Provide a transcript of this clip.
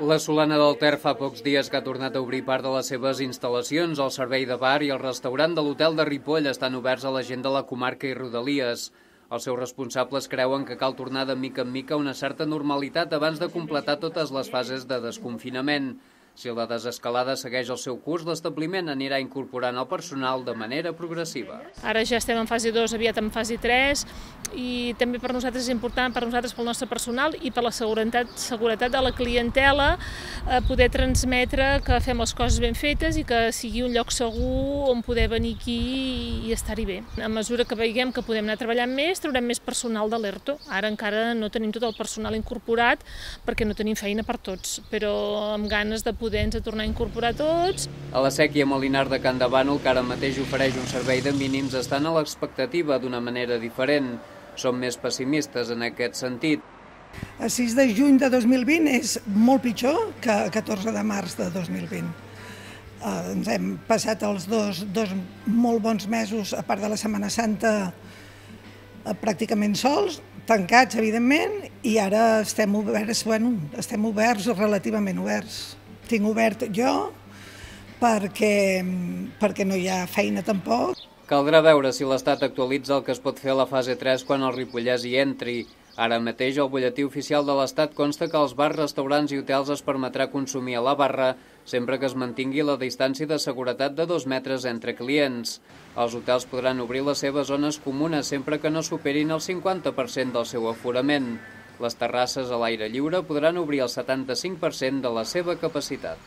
La Solana del Ter fa pocs dies que ha tornat a obrir part de les seves instal·lacions. El servei de bar i el restaurant de l'hotel de Ripoll estan oberts a la gent de la comarca i rodalies. Els seus responsables creuen que cal tornar de mica en mica a una certa normalitat abans de completar totes les fases de desconfinament. Si la desescalada segueix el seu curs, l'establiment anirà incorporant el personal de manera progressiva. Ara ja estem en fase 2, aviat en fase 3, i també per nosaltres és important, pel nostre personal i per la seguretat de la clientela, poder transmetre que fem les coses ben fetes i que sigui un lloc segur on poder venir aquí i estar-hi bé. A mesura que veiem que podem anar treballant més, traurem més personal de l'ERTO. Ara encara no tenim tot el personal incorporat perquè no tenim feina per tots, però amb ganes de poder-nos tornar a incorporar tots. A la Séquia Molinar de Can de Bànol, que ara mateix ofereix un servei de mínims, estan a l'expectativa d'una manera diferent. Som més pessimistes en aquest sentit. El 6 de juny de 2020 és molt pitjor que el 14 de març de 2020. Ens hem passat els dos molt bons mesos, a part de la Setmana Santa, pràcticament sols, tancats, evidentment, i ara estem oberts, relativament oberts. Tinc obert jo perquè no hi ha feina tampoc. Caldrà veure si l'Estat actualitza el que es pot fer a la fase 3 quan el ripollès hi entri. Ara mateix el butlletí oficial de l'Estat consta que als bars, restaurants i hotels es permetrà consumir a la barra sempre que es mantingui la distància de seguretat de 2 metres entre clients. Els hotels podran obrir les seves zones comunes sempre que no superin el 50% del seu aforament. Les terrasses a l'aire lliure podran obrir el 75% de la seva capacitat.